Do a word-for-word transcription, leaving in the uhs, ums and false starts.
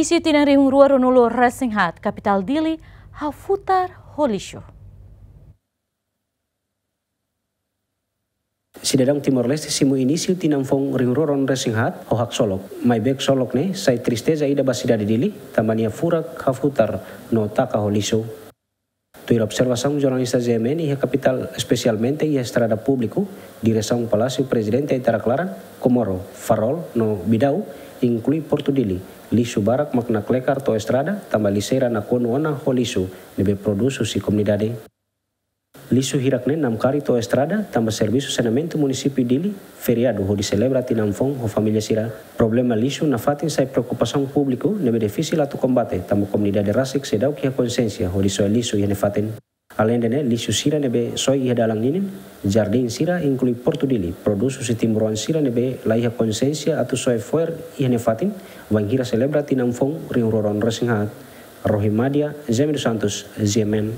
Isin tinan rihun rua ruanulu resin haat, kapitál Dili hafutar ho lixu. Sidadaun Timor-Leste simu inísiu tinan foun rihun rua ruanulu resin haat ho haksolok. Maibé solok ne'e sai tristeza ida ba sidade Dili, tanba nia furak hafutar no taka ho lixu. Tuir observasaun jornalista G M N iha kapitál, espesialmente iha estrada públiku, diresaun Palásiu Prezidente Aitarak-Laran, Comoro, Farol no Bidau, inklui Portu Dili, lixu barak mak naklekar to'o estrada, tanba lixeira nakonu ona ho lixu ne'ebé produz husi komunidade. Lixu hirak ne'e namkari to'o estrada, tanba servisu saneamentu munisípiu Dili feriadu hodi selebra tinan foun ho família sira. Problema lixu nafatin sai preokupasaun públiku ne'ebé difisil atu kombate, tanba komunidade rasik seidauk iha konsiénsia hodi soe lixu iha nefatin. Aleinde ne'e, lixu sira ne'ebé soe iha dalan ninin, jardín sira, inklui Portu Dili, produz husi timbroan sira ne'ebé la iha konsiénsia atu soe fo'er iha nefatin, wainhira selebra tinan foun rihun rua ruanulu resin haat. Rohi Madia, Zé Miro Santos, G M N.